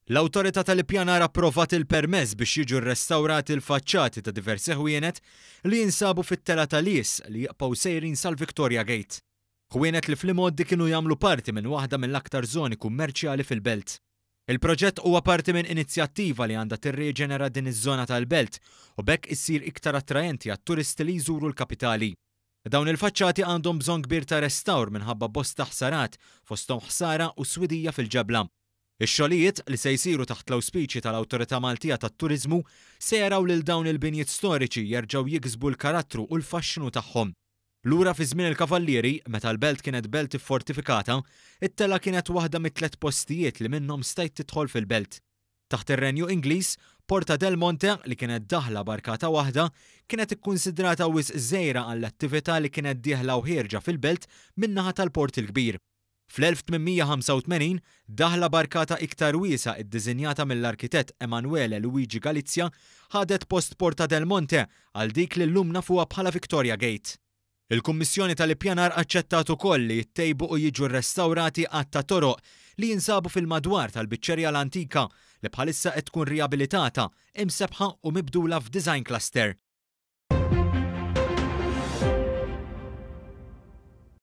L-Awtorità tal-Ippjanar approvat il-permess biex jiġu rrestawrati l-faċċati ta' diversi ħwienet li jinsabu fit-Telgħa ta' Lies li jibqgħu sejrin sal-Victoria Gate. Ħwienet li fl-imgħoddi kienu jagħmlu parti minn waħda mill-aktar żoni kummerċjali fil-belt. Il-proġett huwa parti minn inizjattiva li għandha tirriġenera din iż-żona tal-belt u b'hekk issir iktar attraenti għat-turisti li jżuru l-kapitali. Dawn il-faċċati għandhom bżonn kbir ta' restawr minħabba bosta ħsarat, fosthom ħsara u swidija fil-ġebla. Ix-xogħlijiet, li se jsiru taħt l-awspiċi tal-Awtorità Maltija tat-Turiżmu, se jaraw lil dawn il-binjiet storiċi jerġgħu jiksbu l-karattru u l-faxxinu tagħhom. Lura fi żmien il-Kavallieri, meta l-belt kienet belt iffortifikata, it-telgħa kienet waħda mit-tliet postijiet li minnhom stajt tidħol fil-belt. Taħt ir-Renju Ingliż, Porta del Monte, li kienet daħla b'arkata waħda, kienet ikkunsidrata wisq żgħira għall-attività li kienet dieħla u ħierġa fil-belt min-naħa tal-Port il-Kbir. Fl-1885, daħla b'arkata iktar wiesgħa iddiżinjata mill-arkitett Emanuele Luigi Galizia ħadet post Porta del Monte għal dik li llum nafuha bħala Victoria Gate. Il-Kummissjoni tal-Ippjanar aċċettat ukoll li jittejbu u jiġu rrestawrati għadd ta' toroq li jinsabu fil-madwar tal-Biċċerija l-Antika li bħalissa qed tkun riabilitata, imsebbħa u mibdula f'design cluster.